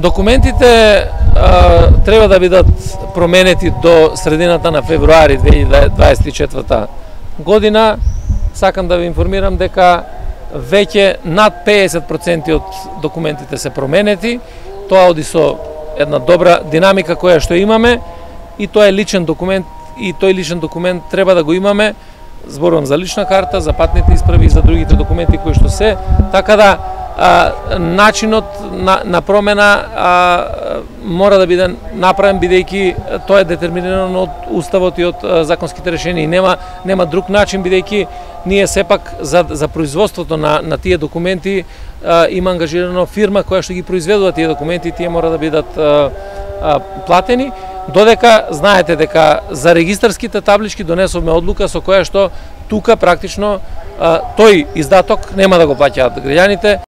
Документите треба да бидат променети до средината на февруари 2024 година. Сакам да ви информирам дека веќе над 50% од документите се променети. Тоа оди со една добра динамика која што имаме и тоа е личен документ и тој личен документ треба да го имаме. Зборувам за лична карта, за патните исправи и за другите документи кои што се, така да начинот на промена мора да биде направен бидејќи тоа е детерминирано од уставот и од законските решенија и нема друг начин бидејќи ние сепак за производството на тие документи има ангажирано фирма која што ги произведува тие документи, тие мора да бидат платени. Додека знаете дека за регистарските таблички донесовме одлука со која што тука практично тој издаток нема да го плаќаат граѓаните.